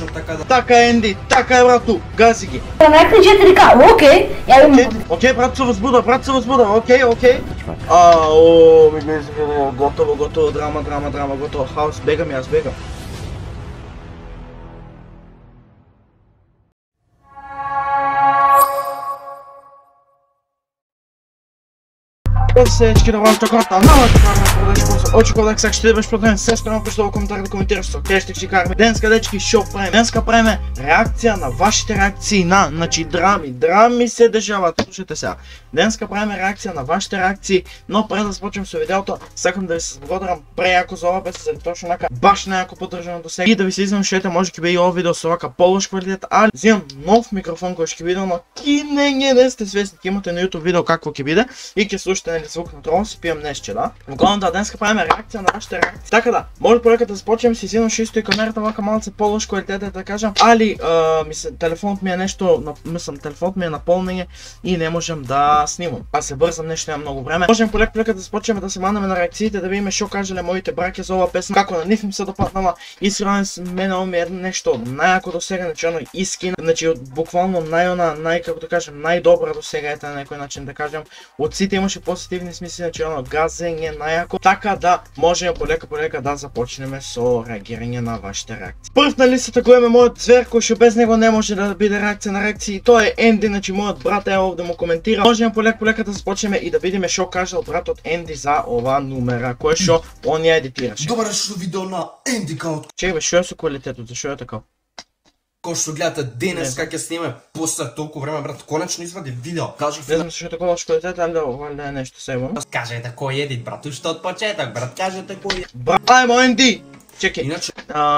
слично така да. Така Енди, така е брату, гази ги. Најакли 4К, окей, ја имам. Окей, брат се возбуда, окей. Ми гледа, готово, драма, готово, хаос, бегам јас, бегам. Сечки да вашата карта, новата карта продажи курса. Очекувах сега ще бъдеш противен, сестра ме пишете в коментар да коментираш со къде ще караме. Денска дечки шо правим. Денска правиме реакция на вашите реакции на, значи драми се дешават. Слушайте сега. Денска правиме реакция на вашите реакции, но пред да започнем со видеото, сакам да ви се благодарам прејако за ова песен, точно нака баш најако поддржано до сега. И да ви се извинам што може ќе биде ова видео со вака полош квалитет, али земам нов микрофон кој ќе биде, но не сте свесни, ќе имате на YouTube видео какво ќе биде и ќе слушате звук на трон, си пием нешто, да? Вглавно да, денска правиме реакција на вашите реакции. Така да, може полека да започнем, си извинам што исто и камерата вака малце полош квалитет да кажам, али телефонот ми е нешто, телефонот ми е наполнење и не можам да снимам. Аз се брзам, нешто нема многу време. Можем полека да започнеме да се манеме на реакциите, да видиме што кажале моите браќа за оваа песна, како на нив им се допаднала. Искрено мене ова ми е нешто најако до сега, значи оно искрено, значи буквално како да кажем, најдобра до сега ете на некој начин да кажем. Од сите имаше позитивни смисли, значи оно газење најако. Така да можеме полека да започнеме со реагирање на вашите реакции. Прв на листата го имаме мојот звер кој што без него не може да биде реакција на реакции. Тоа е Енди, значи мојот брат е овде му коментира. Можеме полека да започнеме и да видиме што кажал братот Енди за ова номера кој што он ја едитираше. Добар дошло видео на Енди Каут. Чекај бе, што е со квалитетот, зашо е така? Кој што гледате денес как ќе сниме после толку време, брат, конечно извади видео. Кажи Не знам зашо е така лош квалитет, али да е нешто себо. Кажете кој едит, брат, уште од почеток, брат, кажете кој. Брат, ајмо Енди. Чекај. Иначе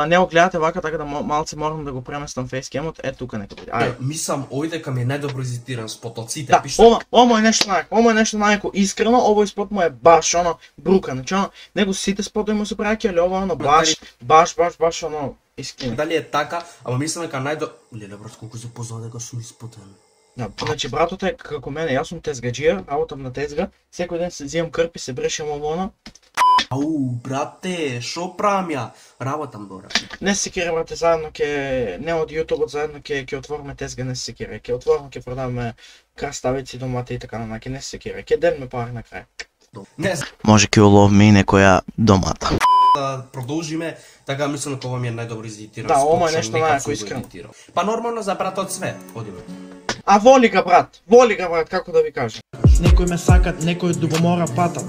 не го гледате вака, така да малце морам да го преместам фейскемот. Е тука нека биде. Ајде. Мислам овој дека ми е најдобро изитиран спотоците, Да, пиште. ова е нешто најако, искрено, овој спот му е баш оно брука, значи оно него сите спотови му се праќа, али ова оно баш оно искрено. Дали е така, ама мислам дека Леле брат, колку се позна дека сум испотен. Да, значи братот е како мене, јас сум тезгаџија, работам на тезга, секој ден се взимам крпи, се брешам ово. Ау, брате, шо правам ја? Работам добро. Не се кире, брате, заедно не од јутубот, заедно ќе отвориме тезга, не се кире. Ќе отвориме, ќе продаваме краставици, домати и така нанаки, не се кире. Ќе дадеме пари на крај. Не, Може ќе уловиме и некоја домата. да продолжиме, така мислам дека ова ми е најдобро изедитиран. Да, ова е нешто најако искрено. Па нормално за братот све, одиме. А воли га брат, како да ви кажам. Некој ме сакат, некој дубомора патат.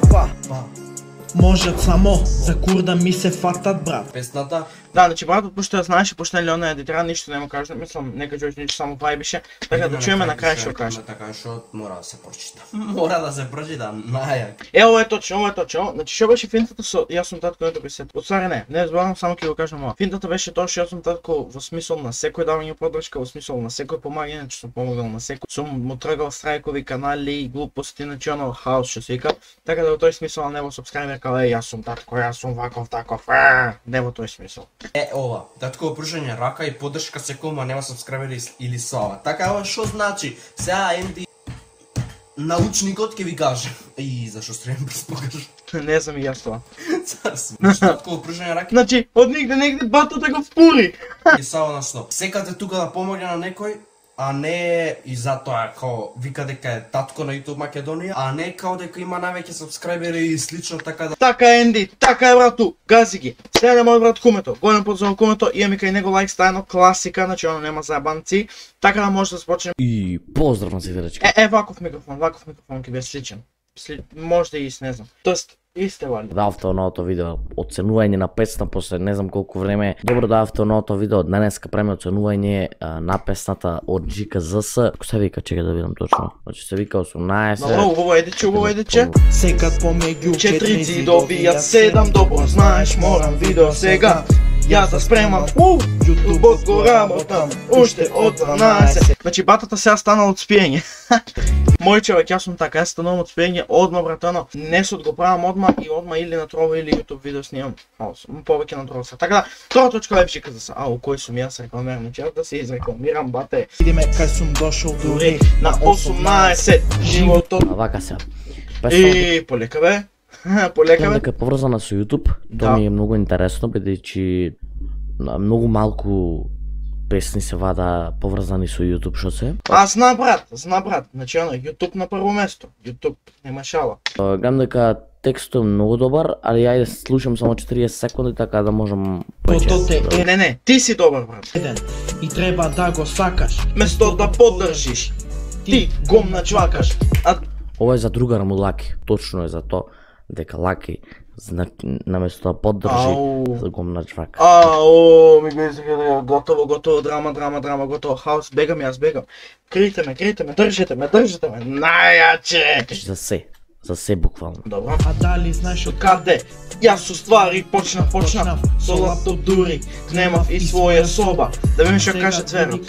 Можат само за курда ми се фатат, брат. Песната. Да, значи братот пошто ја знаеше, пошто нели она едитира, ништо нема кажа, мислам нека Џоџ ништо само вајбише, така да чуеме на крај што кажа. Така што мора да се прочита. Мора да се прочита, најак. Ова е точно. Значи што беше финтата со јас сум татко ето се. Отствари не зборам, само ќе го кажам ова. Финтата беше тоа што јас сум татко во смисол на секој давање поддршка, во смисол на секој помагање, че сум помагал на секој. Сум му тргал страйкови канали и глупости, значи оно хаос што се вика. Така да во тој смисол не во сабскрајбер као јас сум татко, јас сум ваков таков. Не во тој смисол. Ова, татко пружање рака и поддршка секој, нема сабскрајбери или слава. Така ова што значи? Сега Енди научникот ќе ви каже. И зашо стрем покажа? Не знам и јас тоа. Татко пружање рака Значи, од негде батото го впури. и сава на сноп. Секаде тука да помогне на некој, а не и затоа као вика дека е татко на YouTube Македонија, а не као дека има највеќе сабскрајбери и слично така да. Така е Енди, така е брату, гази ги. Сега мојот брат Кумето, голем поздрав Кумето, имаме кај него лайк стајно класика, значи оно нема заебанци, така да може да започнеме. И поздрав на сите дечки. Ваков микрофон ќе биде сличен. Може да и не знам. Тоест, исте вали. Давте оното видео оценување на песна после не знам колку време. Добро давте оното видео денеска преме оценување на песната од ЖКЗС. Како се вика, чека да видам точно. Значи се вика 18. Добро, убаво едече. Секад помеѓу 4 зидови, ја 7 добро знаеш, морам видео сега. Јас да спремам, јутубот го работам, уште од 12. Значи батата сега станал од спиење. Мој човек, јас сум така, јас станувам од спиење одма, братано. Несот го правам одма и одма или на Трова или YouTube видео снимам. Повеќе на Трова. Така да, тоа точка лепши каза се. Ау, кој сум јас рекламирам, значи да се изрекламирам, бате. Видиме кај сум дошол дури на 18. Животот. Вака се. Полека бе. Полека бе. Дека е поврзана со YouTube, тоа ми е многу интересно, бидејќи многу малку песни се вада поврзани со YouTube, што се? Зна брат, значи оно, YouTube на прво место, YouTube, нема шала. Гледам дека текстот е многу добар, али ајде слушам само 40 секунди така да можам повеќе. Не, ти си добар брат. И треба да го сакаш. Место да поддржиш, ти го начвакаш. Ова е за другар му Лаки, точно е за тоа дека Лаки наместо да поддржи, за го начвака. Ми го изгледа, готово, драма, готово, хаос, бегам, Крийте ме, држите ме, најаче! За се буквално. Добро. А дали знаеш од Каде? Јас уствари почнав со лаптоп дури, немав и своја соба. Да видиме што каже Цверо.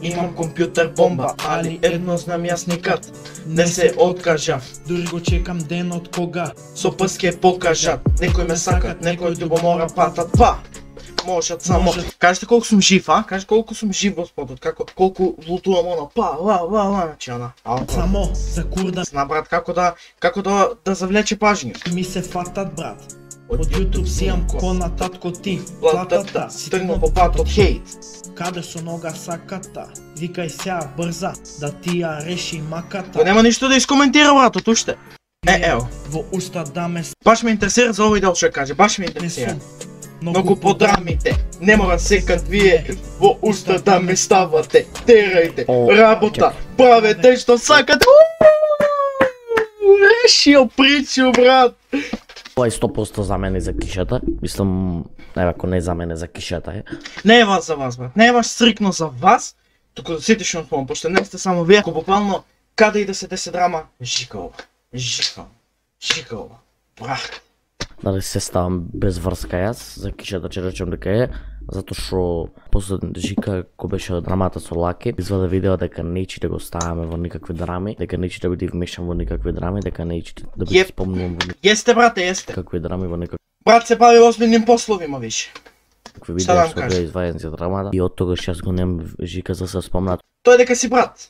Имам компјутер бомба, али едно знам јас никад не се откажав. Дури го чекам денот кога Со прст ќе покажат, некој ме сакат, некој љубомора патат, можат само. Кажете колку сум жив, Кажете колку сум жив во спотот, колку лутувам значи она. само за курда Зна брат како да завлече пажња. ми се фатат брат. Од YouTube си имам понататко ти, Платата си тргнал по патот хейт. каде со нога саката. Викај сега брза да ти ја реши маката. Па нема ништо да искоментира братот уште. Ево. Во уста да ме Баш ме интересира за овој дел што каже, баш ме не интересира. сум. Многу подрамите, не мора секад вие во уста да ме ставате. Терајте, работа, правете што сакате. Решио причу брат. Ова е 100% за мене за кишата. Мислам, ако не за мене за кишата е. Не е вас за вас брат, не е баш стрикно за вас, туку да сите што спомнам, пошто не сте само вие, ако буквално каде и да се десе драма, жикало, брат. Дали се ставам без врска јас за кишата, че речем дека е, затоа што после Жика кој беше драмата со Лаки, изваде видео дека неće да го ставаме во никакви драми, дека неće да биде вмешан во никакви драми, дека неće да биде спомнувам во Јесте брате, јесте. никакви драми, во никакви Брат се бави озбилним пословима више. видео што беа извадени за драмата и од тогаш јас го немам Жика за се спомнат. Тој дека си брат,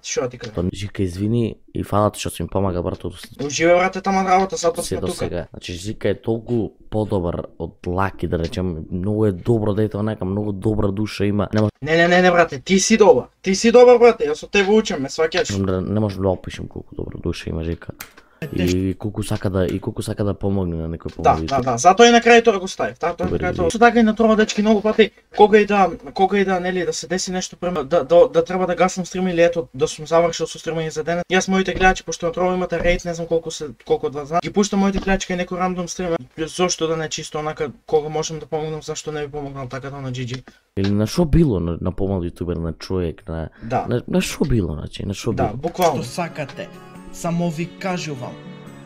што ти кажам. Жика извини и фалат што си ми помага братот. Уживе брате таман работа, затоа Се сме до тука. сега. Значи Жика е толку подобар од Лаки, да речем, многу е добро дете, нека многу добра душа има. Не брате, ти си добар брате, јас од тебе учам, ме сваќаш. Не можам да опишам колку добра душа има Жика. И колку сака да помогне на некој помогне. Да, затоа и на крај тоа го ставив. Со така и на тоа дечки многу пати кога и да нели да се деси нешто да треба да гасам стрим или ето да сум завршил со стримање за денес. Јас моите гледачи пошто на тоа имате рейд, не знам колку од вас знаат. Ги пуштам моите гледачи кај некој рандом стрим. Зошто да не чисто онака кога можам да помогнам, зашто не би помогнал така на GG. Или на шо било на помал јутубер, на човек, на шо било, значи, на шо било. Да, буквално. што сакате. Само ви кажувам,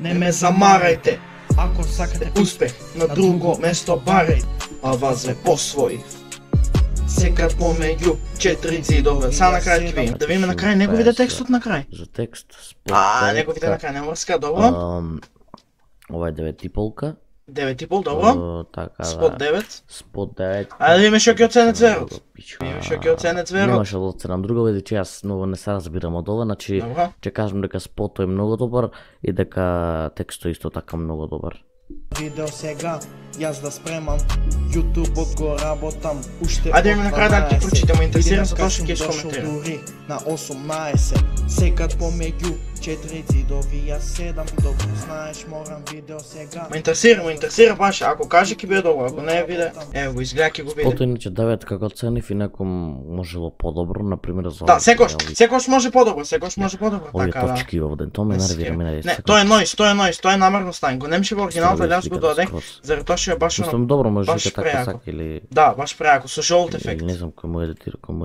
Не ме замарајте. Ако сакате Успех на друго место барај, а вас ве посвоив. Секад помеѓу 4 ѕидове. Са на крај ќе видим. Да видиме на крај неговите текстот на крај. За текст. Неговите на крај не мрска, добро. Ова е 9,5. 9,5, добро. Така, Спот 9. Спот 9. Ајде да видиме што ќе оцене Цверот. Видиме што ќе оцене Цверот. Немаше да оценам друго, бидејќи јас многу не се разбирам од ова, значи Добро. ќе кажам дека спотот е многу добар и дека текстот исто така многу добар. видео сега, јас да спремам, YouTube-от го работам, уште Ајде ми на крај да ти прочитам, интересира за тоа што ќе Идем искоментирам. дури на 18, секад помеѓу 4 ѕидови, јас 7, добро знаеш, морам видео сега. Ме интересира баш, ако каже ќе биде добро, ако не биде, ево го изгледа ќе го биде. Спотот иначе 9 како ценив и некој можело подобро, например за Да, секош може подобро, овие така да. точки овде, тоа ме нервира, Не, тоа е noise, тоа е намерно ставен. Го немше во оригиналот, але јас го додадех, заради тоа што е баш Мислам добро, може баш дека така преако. сака или Да, баш преако, со жолт ефект. или не знам кој му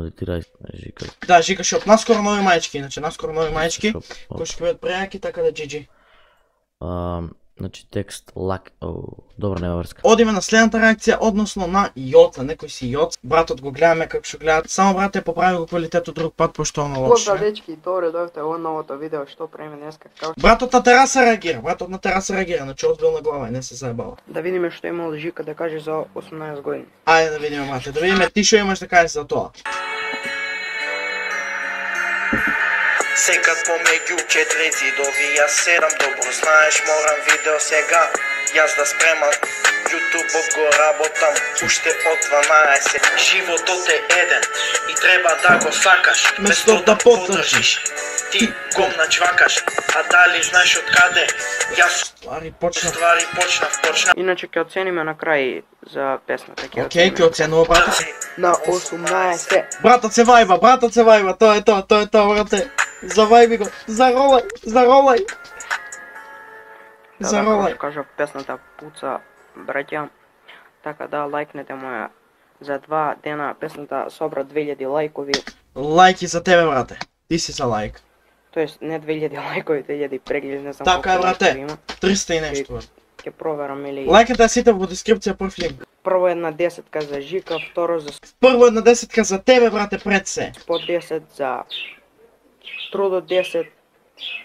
едитира Жика. Да, Жика Шоп, наскоро нови мајчки, иначе наскоро нови мајчки, Шоп, кои ќе бидат преаки, така да GG. Значи текст лак, добро нема врска. Одиме на следната реакција, односно на Јоца, некој си Јоц. Братот го гледаме како што гледат. Само брат е поправи го квалитетот друг пат, пошто оно лошо. Поздрав дечки, добре дојавте во новото видео што правиме денеска. Братот на тераса реагира, значи озбилна глава и не се заебава. Да видиме што има од Жика да каже за 18 години. Ајде да видиме, мате, да видиме ти што имаш да кажеш за тоа. Секад помеѓу 4 ѕидови, јас 7, добро знаеш, морам видео сега, јас да спремам, Ютубот го работам уште од 12. Животот е еден и треба да го сакаш, место да поддржиш. Ти го начвакаш, а дали знаеш од каде? Јас Ствари почнав. почнав. Иначе ќе оцениме на крај за песната. Океј, ќе оценува братот. На 18. Братот се вајба, тоа е тоа, брате. Завајби го, заролај. Како кажа, песната пуца, браќа. Така да лајкнете моја. За 2 дена песната собра 2000 лајкови. Лајки за тебе, брате. Ти си за лајк. Тоест не 2000 лајкови, 2000 прегледи, не знам Така е, колку брате. лајкови има. 300 и нешто. Ќе проверам или Лајката сите во дескрипција прв линк. прво една десетка за Жика, второ за Прво една десетка за тебе, брате, пред се. по 10 за Трудо 10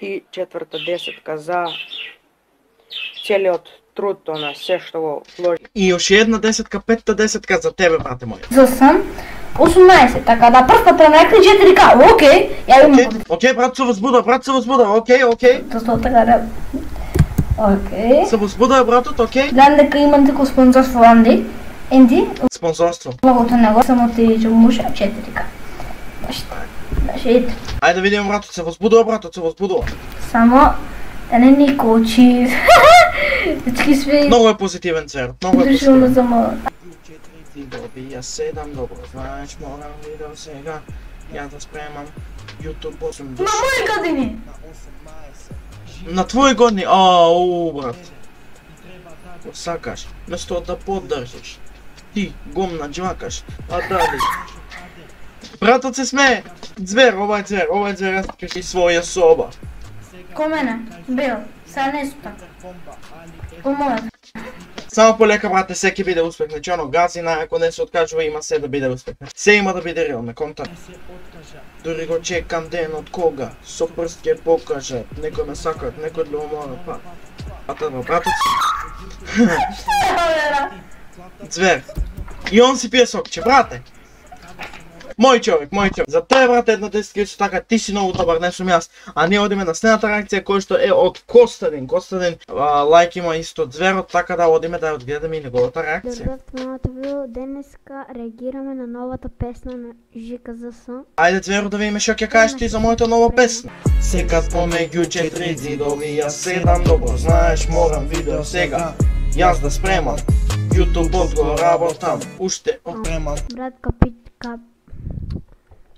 и четврта десетка за целиот труд на се што го вложи. И уште една десетка, петта десетка за тебе, брате мој. За сам 18, така да прста премекли 4К, окей, ја имам Океј, брат се возбуда, океј. тоа така да... Окей. Се возбуда, братот, океј. Гледам дека имам тако спонзорство Анди. Енди, Спонзорство. логото него само ти ќе може 4К. Баше ето. Ајде да видиме, братот, се возбудува. Само да не ни кочи. Всички сме Многу е позитивен цвер, многу е дошли позитивен. за мала. Ти добија 7, добро, знаеш, морам видео сега. Ја да спремам YouTube 8 На души. мои години. На твои години, ау, брат. Го сакаш, место да поддржиш. Ти гом наџвакаш, а дали. Братот се смее. Звер, ова е звер, јас кажи своја соба. Ко мене, бил, са не су така. По мојот. Само полека, брате, се ќе биде успех. Значи, оно газина, ако не се откажува, има се да биде успех. Се има да биде реално, контакт. Дори го чекам ден од кога, со прст ќе покажат. Некој ме сакат, некој да умора, па. Братот си. Звер. И он си пие сокче, брате. Мој човек. За тебе, брате, една десетка исто така, ти си многу добар, не сум јас. А ние одиме на следната реакција која што е од Костадин. Лајк има исто од Зверот, така да одиме да ја одгледаме и неговата реакција. Добро, новото видео. Денеска реагираме на новата песна на Жика ЗС. Ајде, Зверо, да видиме што ќе кажеш ти за мојата нова песна. Секад помеѓу 4 зидови, јас седам, добро знаеш, морам видео сега. Јас да спремам, YouTube го работам, уште опремам. Брат,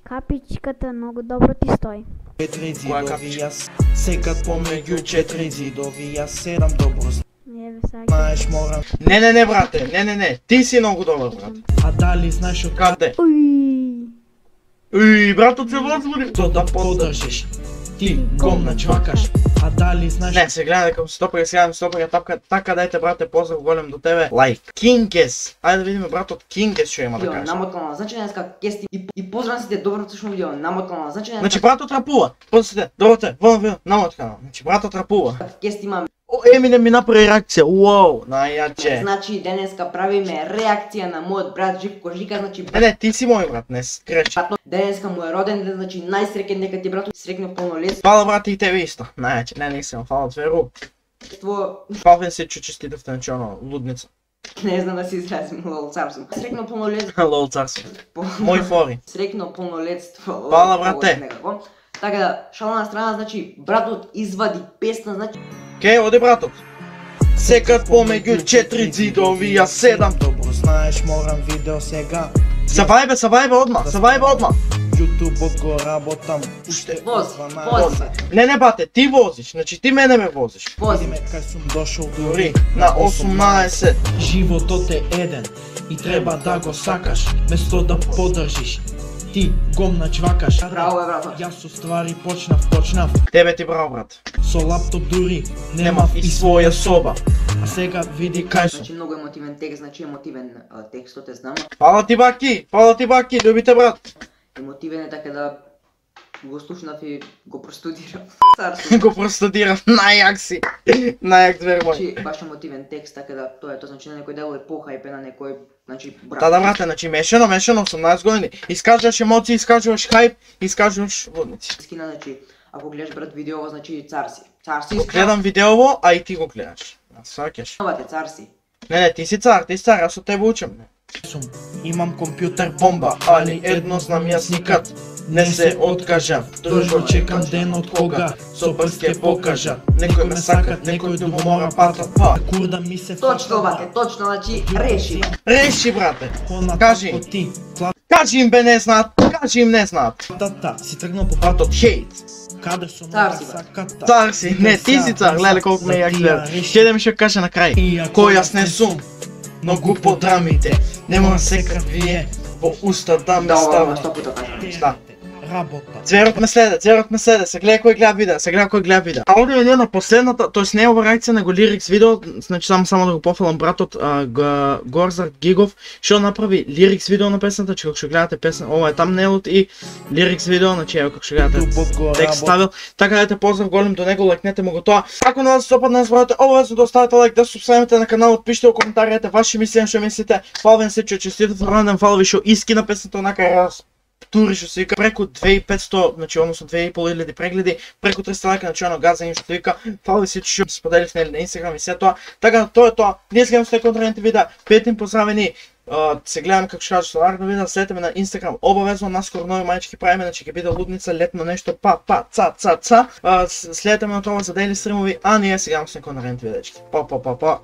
капичката много добро ти стои. 4 зидови, јас секад помеѓу 4 зидови, јас седам, добро Не, бе, сега. знаеш, морам. Не, брате, не, ти си многу добар, брат. А дали знаеш од Каде? Уй. Братот се возбуди. то да поддржиш? Ти го начвакаш, а дали знаеш Не, се гледа дека стопаја сега, така дајте, брате, поздрав голем до тебе. Лајк. Кингес. Ајде да видиме братот Кингес што има да Видео каже. намоткано, значи денеска кести и поздрав сите добро слушно видео намоткано, значи денеска Значи братот рапува. Послете, добро видео, намоткано. Значи братот рапува. кести имаме. Еминем ми направи реакција. Уау, најаќе. Значи денеска правиме реакција на мојот брат Живко Жика, значи Не, ти си мој брат, не скречи. братно, денеска му е роден ден, значи најсреќен нека ти брато срекне полнолетство. Фала брате и тебе исто. Најаќе, не сам, фала Зверу. Фалвен се честитавте, значи оно, лудница. Не знам да се изразим, лол цар сум. Срекно полнолетство. Лол цар си. Мој фори. Срекно полнолетство. Фала, брате. Некако. Така да, шала на страна, значи братот извади песна, значи Кеј, оди братот. Секад помеѓу 4 зидови, јас седам. добро знаеш, морам видео сега. Се вајбе одма. YouTube го работам уште вози. Не, бате, ти возиш, значи ти мене ме возиш. Вози. Кај сум дошол Дори на 18. Животот е еден и треба да го сакаш, место да поддржиш. Ти го начвакаш. Браво, брато. Јас со ствари почнав. Тебе ти браво, брат. Со лаптоп дури Немав и своја соба. А сега види Кај кај сум. Значи многу емотивен текст, значи емотивен текстот е знам. Фала ти баки, любите брат. Емотивен е така да го слушнав и го простудирав. Го простудирав, најак си. Најак Звер мој. Значи баш емотивен текст, така да тоа е тоа, значи на некој дел е похајпен, на некој, значи Да, брате, значи мешано, 18 години. Искажуваш емоции, искажуваш хајп, искажуваш лудници. Скина, значи ако гледаш брат видеово, значи цар си. Цар си. Го гледам видеово, а и ти го гледаш. Сваќаш. Новате цар си. Не, ти си цар, аз со тебе учам. Имам компјутер бомба, али едно знам јас никад не се откажам. Дружба чекам ден од кога со прст ќе покажа. Некој ме сакат, некој дуго мора патат, па. Курда ми се Точно, бате, точно, значи реши. Реши, брате. Кажи. Кажи им бе, не знаат. Кажи им не знаат. Тата, си тргнал по Патот хейт. каде со Цар си, саката. Цар си, не, ти си цар, леле колку ме јак гледа. Ќе да ми ќе каже на крај. Кој јас не сум, но го подрамите. Не мора секрет вие во уста да ме Да, стават. 100 пута кажам. Да. Работа. Цверот ме следе, се гледа кој гледа видео, А овде е на последната, тоест не е ова реакција него лирикс видео, значи само да го пофалам братот Горзар Гигов, што направи лирикс видео на песната, че како што гледате песна, ова е тамнейлот и лирикс видео, значи ево како што гледате текст ставил. Така да те поздрав голем до него, лајкнете му го тоа. Ако не се допадне, не забравяйте обавезно да оставите лајк, да се субскрабите на каналот, пишете во коментарите ваши мисли, што мислите. Фалвен се, честитав ранден фалви што иски на песната онака раз. Тури што се вика преку 2500, значи односно 2500 прегледи, преку 300 лајка, значи оно газање што се вика. Фали се што споделив на Инстаграм и се тоа. Така тоа е тоа. Ние гледаме со контролните видеа. Петим поздравени. Се гледаме како што кажа со наредно видео, следете ме на Инстаграм. Обавезно наскоро нови мајчки правиме, значи ќе биде лудница, летно нешто, ца. Следете ме на тоа за дели стримови, а ние сега гледаме со контролните видеа. Па.